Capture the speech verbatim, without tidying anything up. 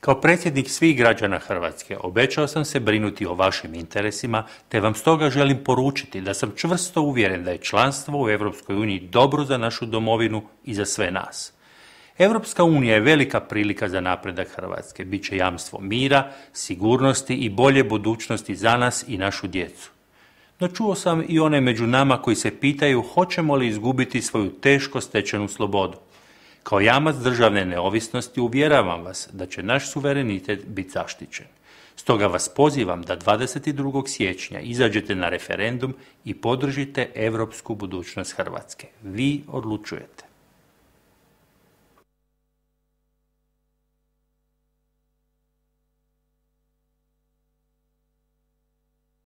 Kao predsjednik svih građana Hrvatske obećao sam se brinuti o vašim interesima, te vam stoga želim poručiti da sam čvrsto uvjeren da je članstvo u Europskoj uniji dobro za našu domovinu i za sve nas. Europska unija je velika prilika za napredak Hrvatske, bit će jamstvo mira, sigurnosti i bolje budućnosti za nas i našu djecu. No čuo sam i one među nama koji se pitaju hoćemo li izgubiti svoju teško stečenu slobodu. Kao jamac državne neovisnosti uvjeravam vas da će naš suverenitet biti zaštićen. Stoga vas pozivam da dvadeset drugog siječnja izađete na referendum i podržite europsku budućnost Hrvatske. Vi odlučujete.